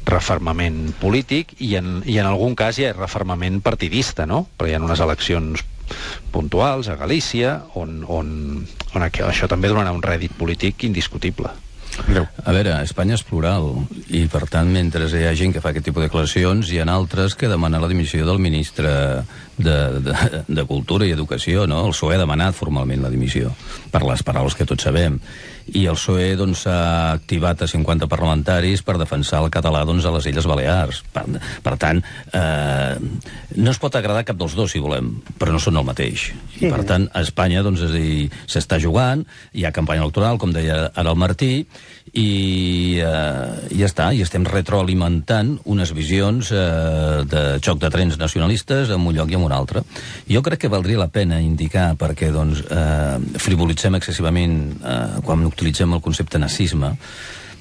refermament polític i en, i en algun cas hi ha refermament partidista, no? Perquè hi ha unes eleccions puntuals a Galícia on, on, on això també donarà un rèdit polític indiscutible. A veure, Espanya és plural i, per tant, mentre hi ha gent que fa aquest tipus de declaracions, hi ha altres que demanen la dimissió del ministre de, de, de Cultura i Educació, no? El P S O E ha demanat formalment la dimissió, per les paraules que tots sabem. I el P S O E doncs, s'ha activat a cinquanta parlamentaris per defensar el català doncs, a les Illes Balears. Per, per tant, eh, no es pot agradar cap dels dos, si volem, però no són el mateix. I, per tant, a Espanya doncs, és a dir, s'està jugant, hi ha campanya electoral, com deia ara el Martí, i eh, ja està, i estem retroalimentant unes visions eh, de xoc de trens nacionalistes en un lloc i en un altre. Jo crec que valdria la pena indicar, perquè doncs, eh, frivolitzem excessivament eh, quan utilitzem el concepte nazisme.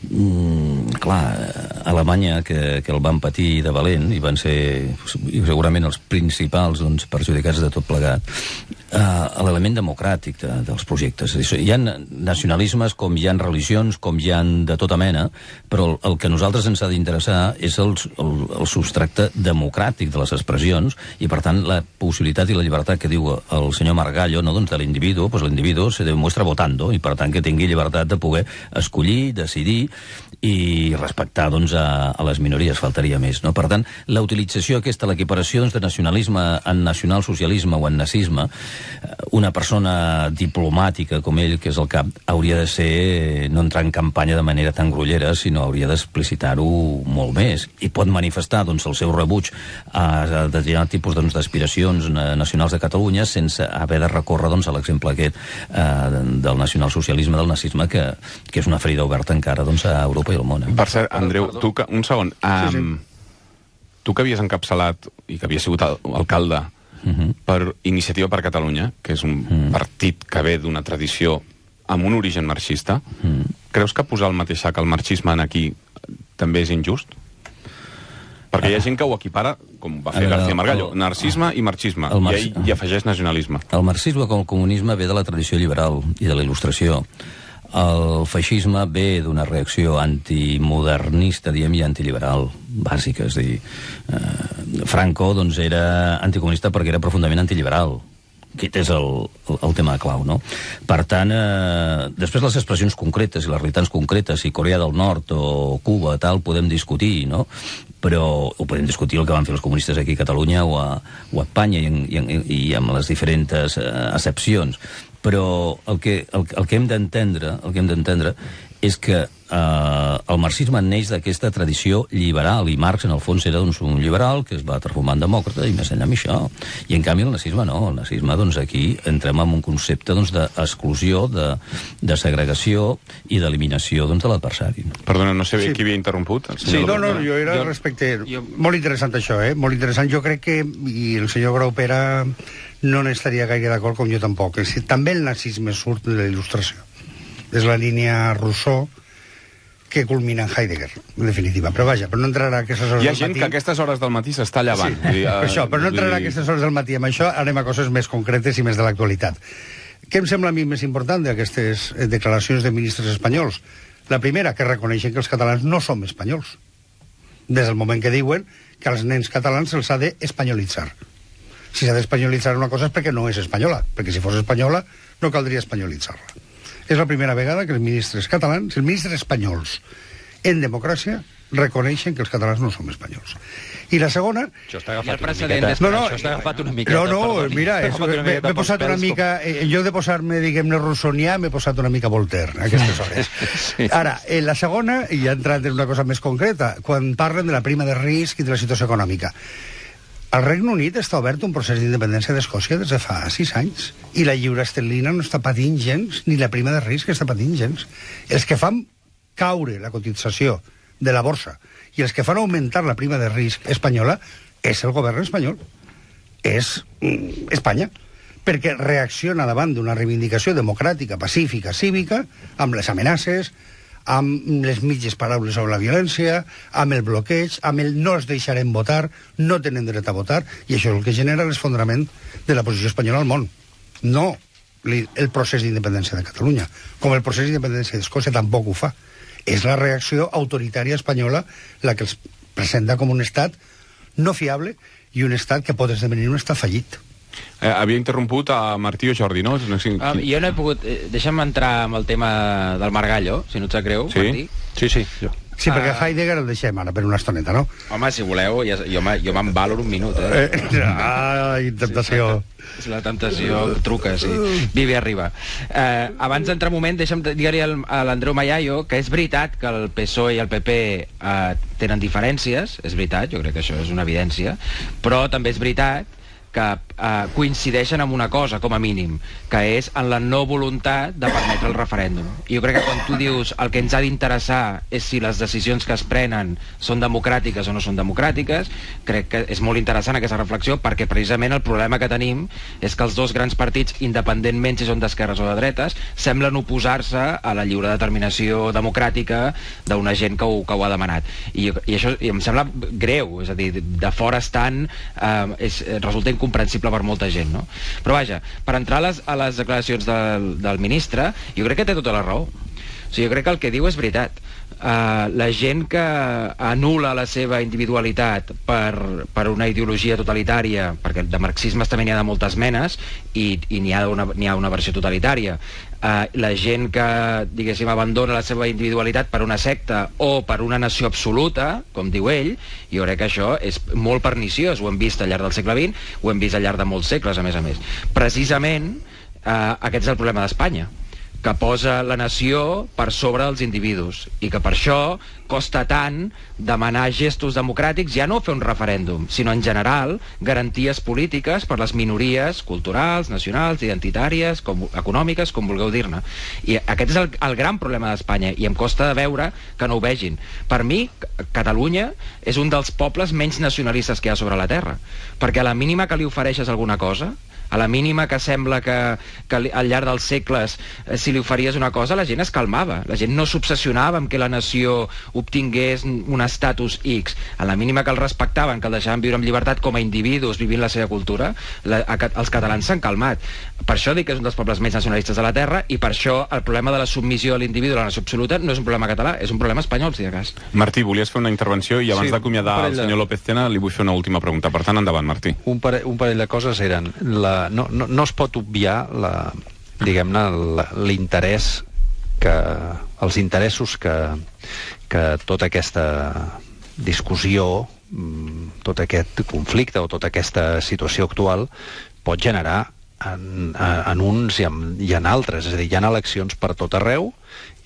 Mm, clar, Alemanya, que, que el van patir de valent i van ser segurament els principals doncs, perjudicats de tot plegat, uh, l'element democràtic de, dels projectes. Hi ha nacionalismes com hi ha religions, com hi ha de tota mena, però el, el que a nosaltres ens ha d'interessar és el, el, el substracte democràtic de les expressions i, per tant, la possibilitat i la llibertat que diu el senyor Margallo, no, doncs, de l'individu, doncs l'individu se demuestra votando i, per tant, que tingui llibertat de poder escollir, decidir i respectar doncs, a, a les minories, faltaria més. No? Per tant, la utilització aquesta, l'equiparació doncs, de nacionalisme en nacionalsocialisme o en nazisme, una persona diplomàtica com ell, que és el cap, hauria de ser, no entrar en campanya de manera tan grollera, sinó hauria d'explicitar-ho molt més. I pot manifestar doncs, el seu rebuig a determinat tipus doncs, d'aspiracions nacionals de Catalunya sense haver de recórrer doncs, a l'exemple aquest eh, del nacionalsocialisme, del nazisme, que, que és una ferida oberta encara doncs, a Europa i al món. Eh? Per cert, Andreu, tu que, un segon. Um, sí, sí. Tu que havies encapçalat i que havies sigut alcalde uh -huh. per Iniciativa per Catalunya, que és un uh -huh. partit que ve d'una tradició amb un origen marxista, uh -huh. creus que posar el mateix sac al marxisme en aquí també és injust? Perquè hi ha gent que ho equipara, com va fer veure, García Margallo, el, narcisme i marxisme, el marx... i ell hi afegeix nacionalisme. El marxisme com el comunisme ve de la tradició liberal i de la il·lustració. El feixisme ve d'una reacció antimodernista, diem, i antiliberal, bàsica. És a dir, eh, Franco doncs, era anticomunista perquè era profundament antiliberal. Aquest és el, el, el tema clau, no? Per tant, eh, després les expressions concretes i les realitats concretes, si Corea del Nord o Cuba, tal, podem discutir, no? Però ho podem discutir el que van fer els comunistes aquí a Catalunya o a, o a Espanya i, en, i, i amb les diferents eh, accepcions. Però el que, el, el que hem d'entendre el que hem d'entendre és que eh, el marxisme neix d'aquesta tradició liberal, i Marx en el fons era doncs, un liberal que es va transformar en demòcrata i més enllà amb això. I en canvi el nazisme no, el nazisme doncs, aquí entrem en un concepte doncs, d'exclusió, de, de segregació i d'eliminació doncs, de l'adversari. Perdona, no sé bé sí. qui havia interromput. El sí, no, no, jo era jo... respecte... Jo... Molt interessant això, eh? Molt interessant. Jo crec que, i el senyor Graupera no n'estaria gaire d'acord, com jo tampoc. També el nazisme surt de la il·lustració. És la línia Rousseau que culmina en Heidegger, en definitiva. Però vaja, però no entrarà a aquestes hores del matí... Hi ha gent que a aquestes hores del matí s'està llevant. Sí, dir, uh, això, però no entrarà a aquestes hores del matí. Amb això anem a coses més concretes i més de l'actualitat. Què em sembla a mi més important d'aquestes declaracions de ministres espanyols? La primera, que reconeixen que els catalans no som espanyols. Des del moment que diuen que als nens catalans se'ls ha d'espanyolitzar. Si s'ha d'espanyolitzar una cosa és perquè no és espanyola, perquè si fos espanyola no caldria espanyolitzar-la. És la primera vegada que els ministres catalans, els ministres espanyols en democràcia, reconeixen que els catalans no som espanyols. I la segona... Això està agafat una miqueta... No, no, això està agafat una miqueta... No, no, perdoni. mira, m'he posat una mica... En lloc de posar-me, diguem-ne, rossonià, m'he posat una mica Voltaire, a aquestes hores. Sí. Ara, en la segona, i ja entrant en una cosa més concreta, quan parlen de la prima de risc i de la situació econòmica. Al Regne Unit està obert un procés d'independència d'Escòcia des de fa sis anys, i la lliura esterlina no està patint gens, ni la prima de risc està patint gens. Els que fan caure la cotització de la borsa i els que fan augmentar la prima de risc espanyola és el govern espanyol, és mm, Espanya, perquè reacciona davant d'una reivindicació democràtica, pacífica, cívica, amb les amenaces, amb les mitges paraules sobre la violència, amb el bloqueig, amb el no els deixarem votar, no tenen dret a votar, i això és el que genera l'esfondrament de la posició espanyola al món. No el procés d'independència de Catalunya, com el procés d'independència d'Escòcia tampoc ho fa. És la reacció autoritària espanyola la que els presenta com un estat no fiable i un estat que pot esdevenir un estat fallit. Eh, havia interromput a Martí o Jordi, no? no sé, ah, jo no he pogut... Eh, deixa'm entrar amb el tema del Margallo, si no et sap greu, sí? Martí. Sí, sí, jo. Sí, perquè Heidegger el deixem ara per una estoneta, no? Home, si voleu, ja, jo, jo me'n valoro un minut, eh? eh ah, tentació. És la temptació, truca, sí. Vivi arriba. Eh, abans d'entrar un moment, deixa'm dir-li a l'Andreu Mayayo que és veritat que el P S O E i el P P eh, tenen diferències, és veritat, jo crec que això és una evidència, però també és veritat que eh, coincideixen amb una cosa, com a mínim, que és en la no voluntat de permetre el referèndum. I jo crec que quan tu dius el que ens ha d'interessar és si les decisions que es prenen són democràtiques o no són democràtiques, crec que és molt interessant aquesta reflexió, perquè precisament el problema que tenim és que els dos grans partits, independentment si són d'esquerres o de dretes, semblen oposar-se a la lliure determinació democràtica d'una gent que ho, que ho ha demanat. I, i això i em sembla greu, és a dir, de fora estant eh, és, resulta incomprensible per molta gent, no? Però vaja, per entrar a les, a les declaracions del, del ministre, jo crec que té tota la raó. O sigui, jo crec que el que diu és veritat. Uh, la gent que anul·la la seva individualitat per, per una ideologia totalitària, perquè de marxismes també n'hi ha de moltes menes, i, i n'hi ha, n'hi ha una versió totalitària, uh, la gent que, diguéssim, abandona la seva individualitat per una secta o per una nació absoluta, com diu ell, jo crec que això és molt perniciós. Ho hem vist al llarg del segle vint, ho hem vist al llarg de molts segles, a més a més. Precisament, uh, aquest és el problema d'Espanya, que posa la nació per sobre dels individus i que per això costa tant demanar gestos democràtics, ja no fer un referèndum, sinó en general garanties polítiques per les minories culturals, nacionals, identitàries, com, econòmiques, com vulgueu dir-ne. I aquest és el, el gran problema d'Espanya, i em costa de veure que no ho vegin. Per mi, Catalunya és un dels pobles menys nacionalistes que hi ha sobre la terra, perquè a la mínima que li ofereixes alguna cosa, a la mínima que sembla que, que al llarg dels segles, eh, si li oferies una cosa, la gent es calmava. La gent no s'obsessionava amb que la nació obtingués un estatus X. A la mínima que el respectaven, que el deixaven viure amb llibertat com a individus, vivint la seva cultura, la, a, els catalans s'han calmat. Per això dic que és un dels pobles més nacionalistes de la terra, i per això el problema de la submissió a l'individu a la nació absoluta no és un problema català, és un problema espanyol, si de cas. Martí, volies fer una intervenció i abans sí, d'acomiadar el senyor López Tena li vull fer una última pregunta. Per tant, endavant, Martí. Un parell, un parell de coses eren... La, no, no, no es pot obviar la, diguem-ne, l'interès que, els interessos que, que tota aquesta discussió, tot aquest conflicte o tota aquesta situació actual pot generar en, en uns i en, i en altres. És a dir, hi ha eleccions per tot arreu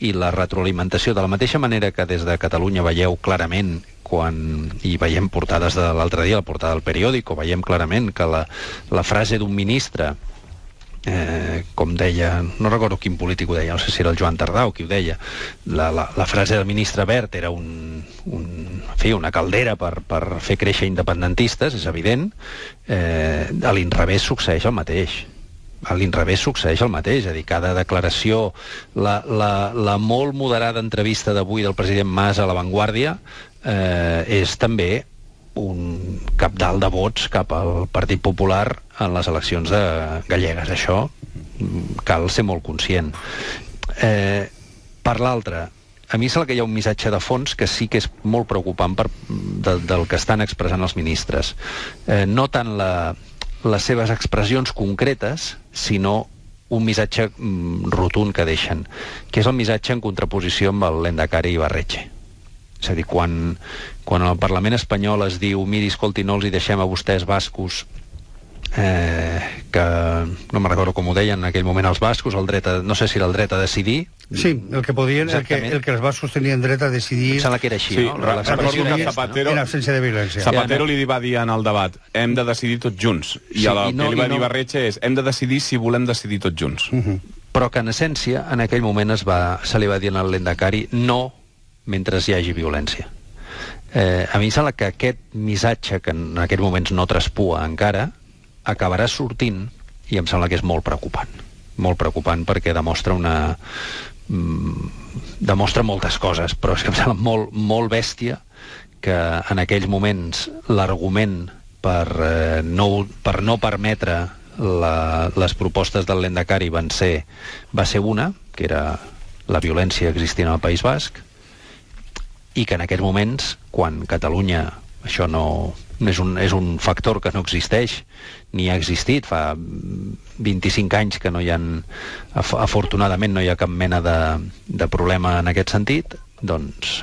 i la retroalimentació, de la mateixa manera que des de Catalunya veieu clarament quan hi veiem portades de l'altre dia, la portada del periòdico, veiem clarament que la, la frase d'un ministre, eh, com deia, no recordo quin polític ho deia, no sé si era el Joan Tardà o qui ho deia, la, la, la frase del ministre Wert era un, un, en fi, una caldera per, per fer créixer independentistes, és evident. Eh, a l'inrevés succeeix el mateix. A l'inrevés succeeix el mateix, és a dir, cada declaració, la, la, la molt moderada entrevista d'avui del president Mas a La Vanguardia eh, és també un cabdal de vots cap al Partit Popular en les eleccions de gallegues. Això cal ser molt conscient. Eh, per l'altra, a mi sembla que hi ha un missatge de fons que sí que és molt preocupant per, de, del que estan expressant els ministres. Eh, no tant la, les seves expressions concretes, sinó un missatge mm, rotund que deixen, que és el missatge en contraposició amb el Lehendakari Ibarretxe. És a dir, quan, quan al Parlament espanyol es diu miri, escolti, no els hi deixem a vostès bascos eh, que no me'n recordo com ho deien en aquell moment els bascos, el dret a, no sé si era el dret a decidir. Sí, el que podien, el que, el que els bascos tenien dret a decidir... Em sembla que era així, sí, no? Re recordo que Zapatero, en absència de violència. Zapatero li va dir en el debat hem de decidir tots junts, i sí, el i no, que li va i dir no... Barretxe és hem de decidir si volem decidir tots junts. Uh -huh. Però que en essència, en aquell moment es va, se li va dir al Lendakari no mentre hi hagi violència. Eh, a mi em sembla que aquest missatge, que en aquests moments no traspua encara, acabarà sortint, i em sembla que és molt preocupant. Molt preocupant perquè demostra una... Mm, demostra moltes coses, però és que em sembla molt, molt bèstia que en aquells moments l'argument per, eh, no, per no permetre la, les propostes del Lendakari van ser, va ser una, que era la violència existint al País Basc, i que en aquests moments, quan Catalunya, això no, no és, un, és un factor que no existeix, ni ha existit, fa vint-i-cinc anys que no hi ha, afortunadament no hi ha cap mena de, de problema en aquest sentit, doncs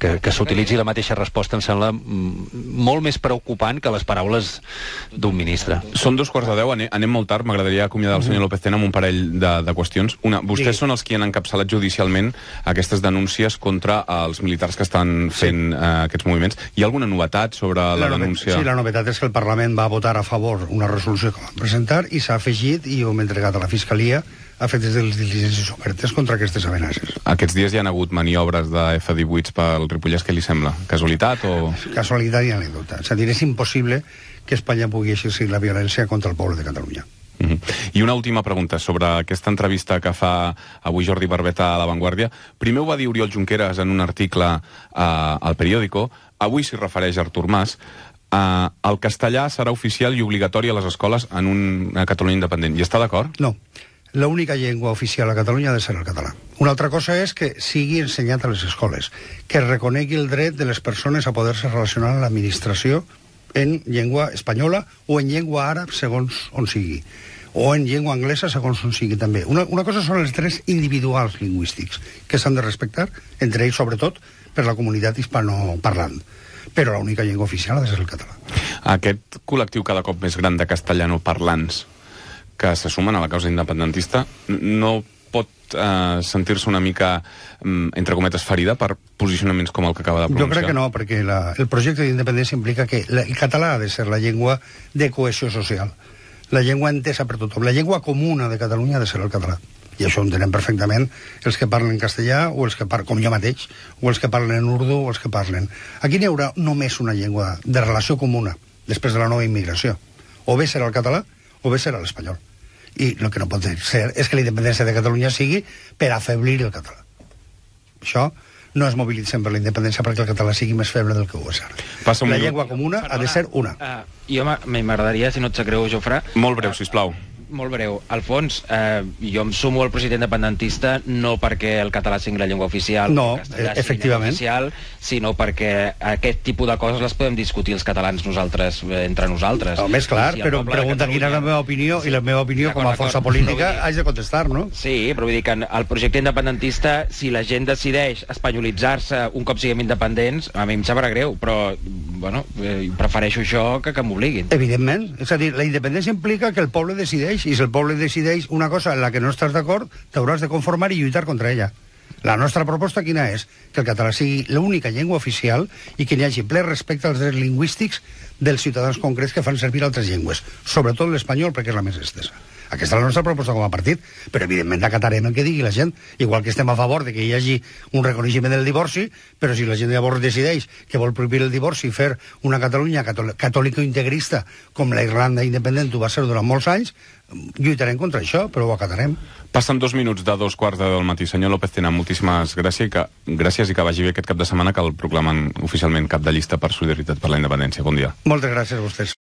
que, que s'utilitzi la mateixa resposta em sembla molt més preocupant que les paraules d'un ministre. Són dos quarts de deu, anem, anem molt tard, m'agradaria acomiadar el senyor López Tena amb un parell de, de qüestions. Una, vostès sí. són els que han encapçalat judicialment aquestes denúncies contra els militars que estan fent sí. eh, aquests moviments. Hi ha alguna novetat sobre la, la denúncia? Sí, la novetat és que el Parlament va votar a favor una resolució que van presentar i s'ha afegit i ho hem entregat a la Fiscalia a fet des de les diligències obertes contra aquestes amenaces. Aquests dies hi ha hagut maniobres de F divuit pel Ripollès, què li sembla? Casualitat o...? Casualitat i anècdota. És a dir, és impossible que Espanya pugui exercir la violència contra el poble de Catalunya. Uh -huh. I una última pregunta sobre aquesta entrevista que fa avui Jordi Barbeta a La Vanguardia. Primer ho va dir Oriol Junqueras en un article uh, al periòdico, avui s'hi refereix Artur Mas. Uh, el castellà serà oficial i obligatori a les escoles en una Catalunya independent. I està d'acord? No. L'única llengua oficial a Catalunya ha de ser el català. Una altra cosa és que sigui ensenyat a les escoles, que es reconegui el dret de les persones a poder-se relacionar amb l'administració en llengua espanyola o en llengua àrab, segons on sigui, o en llengua anglesa, segons on sigui també. Una, una cosa són els drets individuals lingüístics, que s'han de respectar, entre ells, sobretot, per la comunitat hispanoparlant. Però l'única llengua oficial ha de ser el català. Aquest col·lectiu cada cop més gran de castellanoparlants que se sumen a la causa independentista no pot eh, sentir-se una mica, entre cometes, ferida per posicionaments com el que acaba de pronunciar? Jo crec que no, perquè la, el projecte d'independència implica que la, el català ha de ser la llengua de cohesió social, la llengua entesa per tothom, la llengua comuna de Catalunya ha de ser el català. I això ho entenem perfectament els que parlen castellà, o els que parlen, com jo mateix, o els que parlen en urdu, o els que parlen... Aquí n'hi haurà només una llengua de relació comuna, després de la nova immigració. O bé serà el català, o bé serà l'espanyol. I el que no pot ser és que la independència de Catalunya sigui per afeblir el català. Això no es mobilitzen per la independència perquè el català sigui més feble del que ho és ara. La minut. Llengua comuna Perdona, ha de ser una. Uh, jo m'agradaria, si no et sap greu, Jofre... Molt breu, sisplau. Molt breu. Alfons, eh, jo em sumo al projecte independentista no perquè el català sigui la llengua oficial, no, el castellà efectivament, sigui la llengua oficial, sinó perquè aquest tipus de coses les podem discutir els catalans nosaltres, eh, entre nosaltres. No, més clar, si però em pregunta quina és la meva opinió, sí, i la meva opinió com a força política haig de contestar, no? Sí, però vull dir que el projecte independentista, si la gent decideix espanyolitzar-se un cop siguem independents, a mi em sabrà greu, però bueno, eh, prefereixo això que que m'obliguin. Evidentment, és a dir, la independència implica que el poble decideix, i si el poble decideix una cosa en la que no estàs d'acord, t'hauràs de conformar i lluitar contra ella. La nostra proposta quina és? Que el català sigui l'única llengua oficial i que n'hi hagi ple respecte als drets lingüístics dels ciutadans concrets que fan servir altres llengües, sobretot l'espanyol, perquè és la més estesa. Aquesta és la nostra proposta com a partit, però evidentment acatarem el que digui la gent, igual que estem a favor de que hi hagi un reconeixement del divorci, però si la gent llavors decideix que vol prohibir el divorci i fer una Catalunya catòlico-integrista com la Irlanda independent ho va ser durant molts anys, lluitarem contra això, però ho acatarem. Passen dos minuts de dos quarts de del matí. Senyor López Tena, moltíssimes gràcies i que, gràcies i que vagi bé aquest cap de setmana, que el proclamen oficialment cap de llista per Solidaritat per la Independència. Bon dia. Moltes gràcies a vostès.